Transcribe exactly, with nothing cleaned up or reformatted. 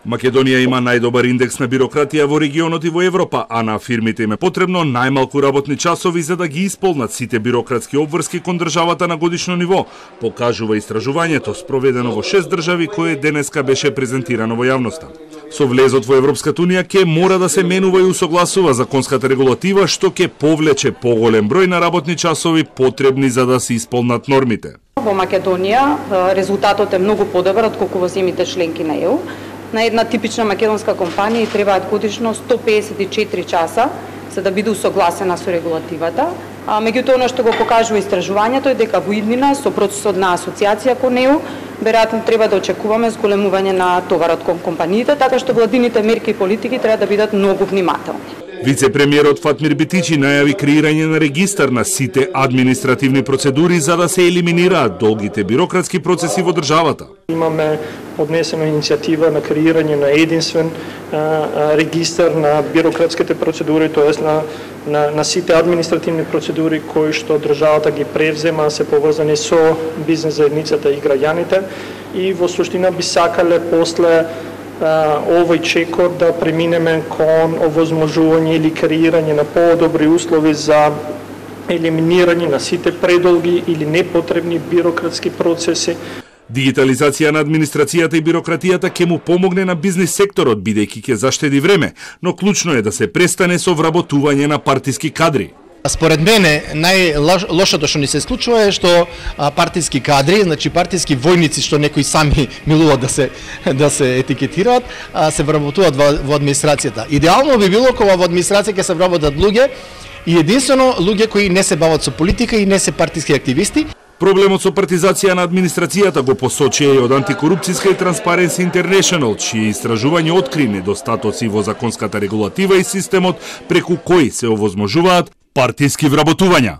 Македонија има најдобар индекс на бирократија во регионот и во Европа, а на фирмите им е потребно најмалку работни часови за да ги исполнат сите бирократски обврски кон државата на годишно ниво, покажува истражувањето спроведено во шест држави кое денеска беше презентирано во јавноста. Со влезот во Европската унија ќе мора да се менува и усогласува законската регулатива што ќе повлече поголем број на работни часови потребни за да се исполнат нормите. Во Македонија резултатот е многу подобар отколку во земјите членки на Е У. На една типична македонска компанија требаат годишно сто песет и четири часа за да биде усогласена со регулативата. А меѓутоа она што го покажува истражувањето е дека во иднина со процесот на асоциација кон Е У веројатно треба да очекуваме зголемување на товарот кон компаниите, така што владините мерки и политики треба да бидат многу внимателни. Вице-премиерот Фатмир Битичи најави креирање на регистар на сите административни процедури за да се елиминираат долгите бирократски процеси во државата. Имаме поднесена иницијатива на креирање на единствен а, а, регистар на бирократските процедури, тоест на, на, на сите административни процедури кои што државата ги превзема, се поврзани со бизнес заедницата и граѓаните, и во суштина би сакале после овој чекор да преминеме кон овозможување или креирање на подобри услови за елиминирање на сите предолги или непотребни бирократски процеси. Дигитализација на администрацијата и бирократијата ќе му помогне на бизнис секторот, бидејќи ќе заштеди време, но клучно е да се престане со вработување на партиски кадри. Според мене, најлошото што ни се случува е што партиски кадри, значи партиски војници што некои сами милуваат да се да се етикетираат, се вработуваат во, во администрацијата. Идеално би било кога во администрација ќе се вработат луѓе и единствено луѓе кои не се бават со политика и не се партиски активисти. Проблемот со партизација на администрацијата го посочија и од Антикорупцијска и Transparency International, чие истражување откри недостатоци во законската регулатива и системот преку кои се овозможуваат партиски вработувања.